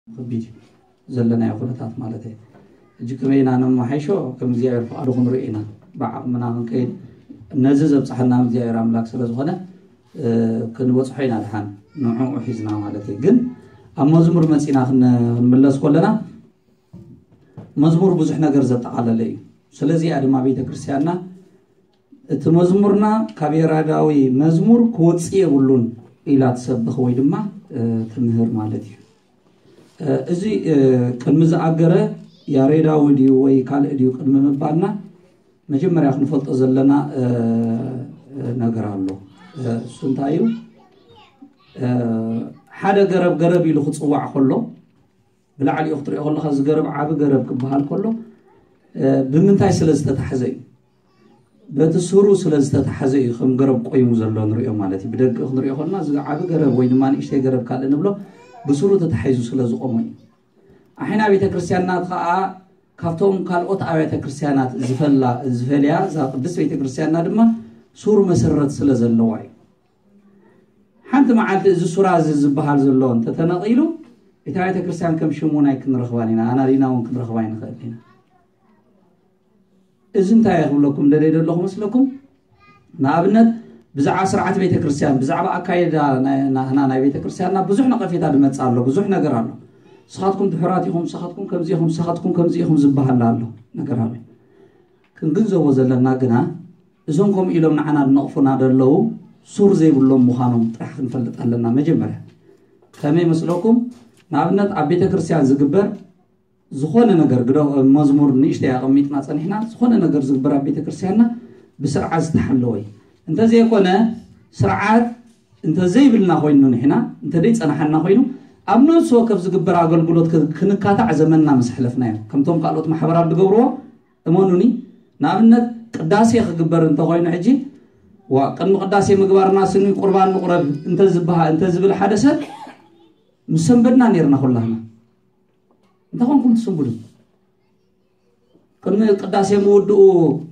ከቢድ እዩ ዘለናዮ ኩነታት ማለት እዩ። ሕጂ ከመይ ኢና ነመሓይሾ? ከም እግዚኣብሔር ፍቓዱ ክንርኢ ኢና። ብዓቕምና ክንከይድ ነዚ ዘብፅሐና እግዚኣብሔር ኣምላክ ስለ ዝኾነ ክንበፅሖ ኢና ድሓን ንዕኡ ሒዝና ማለት እዩ። ግን ኣብ መዝሙር መፂና ክንምለስ ከለና መዝሙር ብዙሕ ነገር ዘጠቓለለ እዩ። ስለዚኣ ድማ ቤተክርስትያንና እቲ መዝሙርና ካብ ያሬዳዊ መዝሙር ክወፅእ የብሉን ኢላ ትሰብኽ ወይ ድማ ትምህር ማለት እዩ። እዚ ቅድሚ ዝኣገረ ያሬዳዊ ድዩ ወይ ካልእ ድዩ ቅድሚ ምባልና መጀመርያ ክንፈልጦ ዘለና ነገር ኣሎ። እሱ እንታይ እዩ? ሓደ ገረብ ገረብ ኢሉ ክፅዋዕ ከሎ ብላዕሊኡ ክትሪኦ ከለካ እዚ ገረብ ዓቢ ገረብ ክበሃል ከሎ ብምንታይ ስለ ዝተታሕዘ እዩ? በቲ ስሩ ስለ ዝተታሕዘ እዩ ከም ገረብ ቆይሙ ዘሎ ንሪኦ ማለት እዩ። ብደገ ክንሪኦ ከለና እዚ ዓቢ ገረብ ወይ ድማ ንእሽተይ ገረብ ካልእ ንብሎ ብስሩ ተታሒዙ ስለ ዝቆመ እዩ። ኣሒና ቤተ ክርስቲያንና ከዓ ካብቶም ካልኦት ኣብያተ ክርስቲያናት ዝፈላ ዝፈልያ እዛ ቅድስት ቤተ ክርስቲያንና ድማ ሱር መሰረት ስለ ዘለዋ እዩ። ሓንቲ መዓልቲ እዚ ሱራ እዚ ዝበሃል ዘሎ እንተተነቒሉ እታ ቤተ ክርስቲያን ከም ሽም እውን ኣይክንረኽባን ኢና፣ ኣናዲና እውን ክንረኽባ ኣይንኽእል ኢና። እዚ እንታይ ክብለኩም ደለይ ዘለኹ መስለኩም? ንኣብነት ብዛዕባ ስርዓት ቤተ ክርስቲያን ብዛዕባ ኣካየዳ ናህና ናይ ቤተ ክርስቲያንና ብዙሕ ነቐፌታ ዝመፅእ ኣሎ፣ ብዙሕ ነገር ኣሎ። ንስኻትኩም ድሑራት ኢኹም፣ ንስኻትኩም ከምዚ ኢኹም፣ ንስኻትኩም ከምዚ ኢኹም ዝበሃል ኣሎ ነገር ኣሎ። ክንግንዘቦ ዘለና ግና እዞም ከምኡ ኢሎም ንዓና ዝነቕፉና ዘለዉ ሱር ዘይብሎም ምዃኖም ጥራሕ ክንፈልጥ ኣለና። መጀመርያ ከመይ መስለኩም? ንኣብነት ኣብ ቤተ ክርስቲያን ዝግበር ዝኾነ ነገር ግደ መዝሙር ንእሽተይ ኣቐሚጥና ጸኒሕና፣ ዝኾነ ነገር ዝግበር ኣብ ቤተ ክርስቲያንና ብስርዓት ዝተሓለወ እዩ። እንተዘይኮነ ስርዓት እንተዘይብልና ኮይኑ ንሕና እንተዘይጸናሓና ኮይኑ ኣብ ነፍሲ ወከፍ ዝግበር ኣገልግሎት ክ- ክንካታዕ ዘመንና ምስ ኣሕለፍናዮ ከምቶም ካልኦት ማሕበራት ዝገብርዎ እመኑኒ። ንኣብነት ቅዳሴ ክግበር እንተኮይኑ ሕጂ ዋ ቅድሚ ቅዳሴ ምግባርና ስኒ ቁርባን ንቁረብ እንተዝበሃ እንተዝብል ሓደ ሰብ ምስ ሰንበድና ነርና ኩላህና። እንታይ ኮንኩም ትስንብዱ? ቅድሚ ቅዳሴ ምውድኡ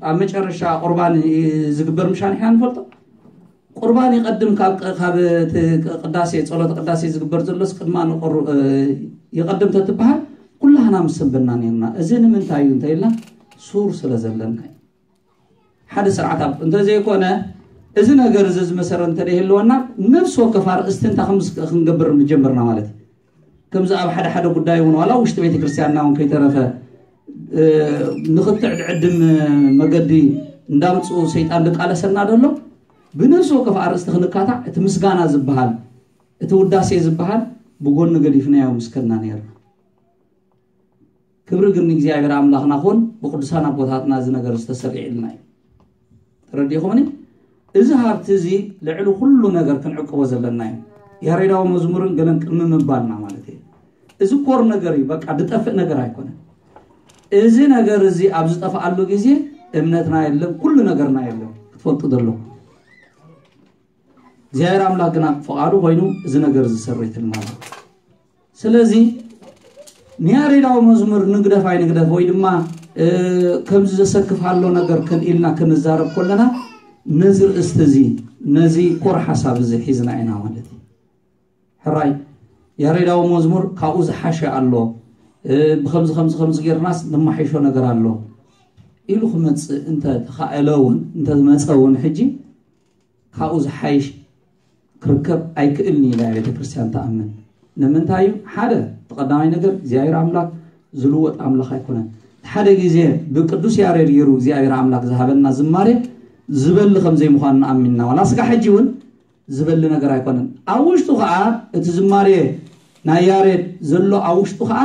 ኣብ መጨረሻ ቁርባን ዝግበር ምሻን ኢና ንፈልጦ። ቁርባን ይቐድም ካብ ካብ እቲ ቅዳሴ ጸሎት ቅዳሴ ዝግበር ዘሎስ ቅድማ ንቆሩ ይቐድም ተትበሃል ኩላህና ምስ ሰንበድና ነርና። እዚ ንምንታይ እዩ እንተኢልና ሱር ስለ ዘለና እዩ። ሓደ ስርዓት ኣብ እንተዘይኮነ እዚ ነገር እዚ ዝመሰረት እንተደይህልወና ነፍሲ ወከፍ ኣርእስቲ እንታይ ከም ክንገብር ምጀመርና ማለት እዩ። ከምዚ ኣብ ሓደ ሓደ ጉዳይ እውን ዋላ ውሽጢ ቤተ ክርስቲያንና እውን ከይተረፈ ንክትዕ ድዕድም መገዲ እንዳምፅኡ ሰይጣን ዝቃለሰና ዘሎ ብነፍሲ ወከፍ ኣርእስቲ ክንካታዕ እቲ ምስጋና ዝበሃል እቲ ውዳሴ ዝበሃል ብጎኒ ገዲፍናዮ ምስከና ነይርና። ክብሪ ግን ንእግዚኣብሔር ኣምላኽና ኹን ብቅዱሳን ኣቦታትና እዚ ነገር ዝተሰሪዕልና እዩ። ተረዲኹምኒ? እዚ ሃብቲ እዚ ልዕሊ ኩሉ ነገር ክንዕቅቦ ዘለና እዩ። ያሬዳዊ መዝሙርን ገለን ቅድሚ ምባልና ማለት እዩ። እዚ ኮር ነገር እዩ፣ በቃ ዝጠፍእ ነገር ኣይኮነን። እዚ ነገር እዚ ኣብ ዝጠፍኣሉ ግዜ እምነትና የለን፣ ኩሉ ነገርና የለን። ክትፈልጡ ዘለኩም እግዚኣብሔር ኣምላክ ግና ፍቃዱ ኮይኑ እዚ ነገር ዝሰርትልና። ስለዚ ንያሬዳዊ መዝሙር ንግደፍ ኣይንግደፍ ወይ ድማ ከምዚ ዘሰክፍ ኣሎ ነገር ክንኢልና ክንዛረብ ከለና ነዚ ርእስቲ እዚ ነዚ ኮር ሓሳብ እዚ ሒዝና ኢና ማለት እዩ። ሕራይ ያሬዳዊ መዝሙር ካብኡ ዝሓሸ ኣሎ፣ ብከምዚ ከምዚ ከምዚ ጌርናስ ንማሓይሾ ነገር ኣሎ ኢሉ ክመፅእ እንተ ተኻእለ እውን እንተ ዝመፀ እውን ሕጂ ካብኡ ዝሓይሽ ክርከብ ኣይክእልን እዩ ኢላ ቤተ ክርስቲያን ትኣምን። ንምንታይ እዩ? ሓደ እቲ ቀዳማይ ነገር እግዚኣብሔር ኣምላክ ዝልወጥ ኣምላክ ኣይኮነን። ሓደ ግዜ ብቅዱስ ያሬድ ገይሩ እግዚኣብሔር ኣምላክ ዝሃበና ዝማሬ ዝበሊ ከም ዘይምዃኑ ንኣሚንና ዋላ ስጋ ሕጂ እውን ዝበሊ ነገር ኣይኮነን። ኣብ ውሽጡ ከዓ እቲ ዝማሬ ናይ ያሬድ ዘሎ ኣብ ውሽጡ ከዓ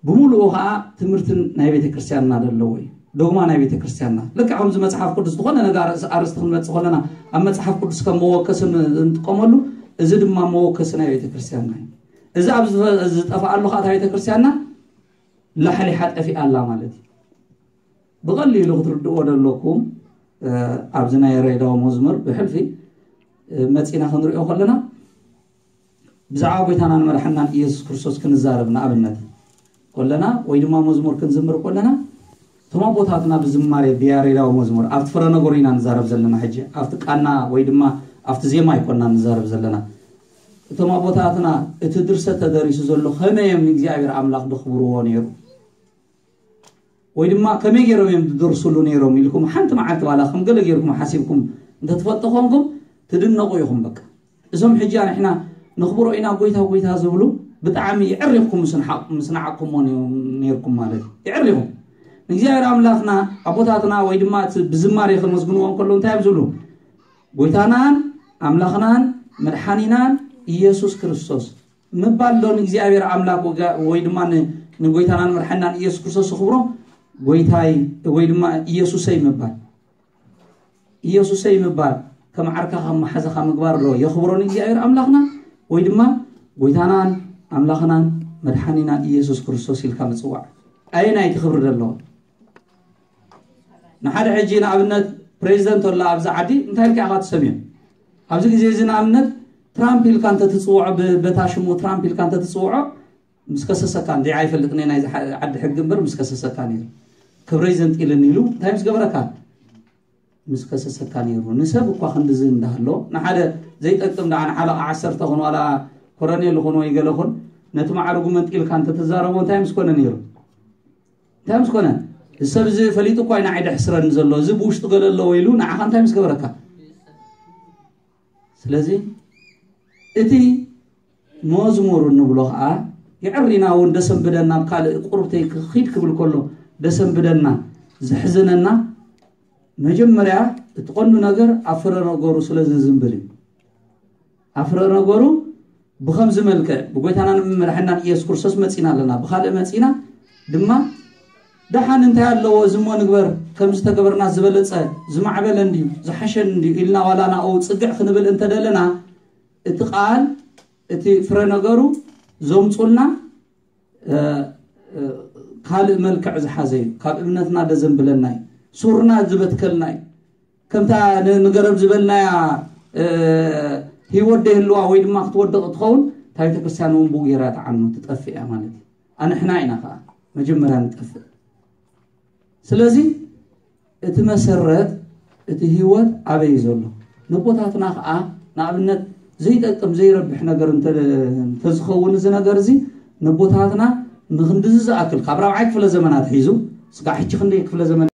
ብምሉኡ ከዓ ትምህርትን ናይ ቤተ ክርስቲያንና ዘለዎ እዩ። ዶግማ ናይ ቤተ ክርስቲያንና ልክዕ ከምዚ መፅሓፍ ቅዱስ ዝኾነ ነገር ኣርእስ- ኣርእስቲ ክንመፅእ ከለና ኣብ መፅሓፍ ቅዱስ ከም መወከሲ ን- እንጥቀመሉ እዚ ድማ መወከሲ ናይ ቤተ ክርስቲያንና እዩ። እዚ ኣብ ዝፈ- ዝጠፍኣሉ ከዓ እታ ቤተ ክርስቲያንና ላሕሊሓ ጠፊኣ ኣላ ማለት እዩ። ብቐሊሉ ክትርድእዎ ደለኩም ኣብዚ ናይ ያሬዳዊ መዝሙር ብሕልፊ መፂና ክንሪኦ ከለና ብዛዕባ ጎይታና ንመድሓናን ኢየሱስ ክርስቶስ ክንዛረብ ንኣብነት ከለና ወይ ድማ መዝሙር ክንዝምር ከለና እቶም ኣቦታትና ብዝማሬ ብያሬዳዊ መዝሙር ኣብቲ ፍረ ነገሩ ኢና ንዛረብ ዘለና። ሕጂ ኣብቲ ቃና ወይ ድማ ኣብቲ ዜማ ኣይኮና ንዛረብ ዘለና። እቶም ኣቦታትና እቲ ድርሰት ተደሪሱ ዘሎ ከመይ እዮም ንእግዚኣብሔር ኣምላኽ ደኽብርዎ ነይሩ? ወይ ድማ ከመይ ገይሮም እዮም ዝደርሱሉ ነይሮም ኢልኩም ሓንቲ መዓልቲ ዋላ ከም ገለ ገይርኩም ሓሲብኩም እንተትፈልጡ ኮንኩም ትድነቑ ኢኹም። በቃ እዞም ሕጂ ንሕና ነኽብሮ ኢና ጎይታ ጎይታ ዝብሉ ብጣዕሚ የዕሪኽኩም ምስ ንሓ-፣ ምስ ንዓቅሞ ነይርኩም ማለት እዩ። የዕሪኹም። ንእግዚኣብሔር ኣምላኽና ኣቦታትና ወይ ድማ እቲ ብዝማሬ ከመስግንዎ እንከሎ እንታይ እዮም ዝብሉ? ጎይታናን ኣምላኽናን መድሓኒናን ኢየሱስ ክርስቶስ ምባል ዶ ንእግዚኣብሔር ኣምላኽ ወጋ-፣ ወይ ድማ ን-፣ ንጎይታናን መድሓኒናን ኢየሱስ ክርስቶስ ክብሮ ጎይታይ ወይ ድማ ኢየሱሰይ ምባል? ኢየሱሰይ ምባል ከም ዓርካ ከም መሓዛኻ ምግባር ዶ የኽብሮ ንእግዚኣብሔር ኣምላኽና? ወይ ድማ ጎይታናን ኣምላኽናን መድሓኒናን ኢየሱስ ክርስቶስ ኢልካ ምጽዋዕ ኣየናይ እቲ ክብሪ ዘለዎ? ንሓደ ሕጂ ንኣብነት ፕሬዚደንት ኣሎ ኣብዚ ዓዲ እንታይ ኢልካ ኢኻ ትሰምዮ? ኣብዚ ግዜ እዚ ንኣብነት ትራምፕ ኢልካ እንተትጽውዖ ብ-፣ በታ ሽሙ ትራምፕ ኢልካ እንተትጽውዖ ምስ ከሰሰካ እንዲ ኣይፈልጥን ናይ ዓዲ ሕጊ እምበር ምስ ከሰሰካ ነይሩ። ክብረይ ዘንጢልኒ ኢሉ እንታይ ምስ ገበረካ? ምስ ከሰሰካ ነይሩ። ንሰብ እኳ ክንድዚ እንዳሃሎ ንሓደ ዘይጠቅም ደኣ ንሓለቃ ዓሰርተ ኹን ዋላ ኮረኔል ኹን ወይ ገለ ኹን ነቲ ማዕረጉ መንጢልካ እንተትዛረቦ እንታይ ምስ ኮነ ነይሩ? እንታይ ምስ ኮነ? እዚ ሰብ እዚ ፈሊጡ እኳ ኢና ዓይደ ሕስረኒ ዘሎ፣ እዚ ብውሽጡ ገለ ኣለዎ ኢሉ ንዓኻ እንታይ ምስ ገበረካ? ስለዚ እቲ መዝሙር እንብሎ ኸዓ የዕሪና እውን ደሰንብደና፣ ኣብ ካልእ ቁርብተይ ክኺድ ክብል ከሎ ደሰንብደና፣ ዘሕዝነና መጀመርያ እቲ ቀንዱ ነገር ኣብ ፍረ ነገሩ ስለ ዝዝንብል እዩ። ኣብ ፍረ ነገሩ ብኸምዚ መልክዕ ብጎይታናን መድሓኒናን ኢየሱስ ክርስቶስ መጺና ኣለና። ብኻልእ መጺና ድማ ደሓን እንታይ ኣለዎ እዚ እሞ ንግበር፣ ከምዚ ተገበርና ዝበለጸ ዝማዕበለ እንድዩ ዝሓሸን እንድዩ ኢልና ዋላ ናኡ ጽግዕ ክንብል እንተደለና እቲ ቃል እቲ ፍረ ነገሩ ዘምጹልና እ፣ እ፣ ካልእ መልክዕ ዝሓዘ እዩ። ካብ እምነትና ደዘንብለና እዩ። ሱርና ዝበትከልና እዩ። ከምታ ን-፣ ንገረብ ዝበልናያ እ፣ ህይወት ደይህልዋ ወይ ድማ ክትወድቕ ትኸውን እታ ቤተክርስትያን እውን ብኡ ገይራ ትዓኑ ትጠፍእ እያ ማለት እዩ። ኣንሕና ኢና ከዓ መጀመርያ ንጠፍእ። ስለዚ እቲ መሰረት እቲ ህይወት ኣበይ እዩ ዘሎ? ነቦታትና ከዓ ንኣብነት ዘይጠቅም ዘይረብሕ ነገር እንተ-፣ እንተዝኸውን እዚ ነገር እዚ ነቦታትና ንክንድዚ ዝኣክል ካብ ራብዓይ ክፍለ ዘመናት ሒዙ ስጋዕ ሕጂ ክንደይ ክፍለ ዘመን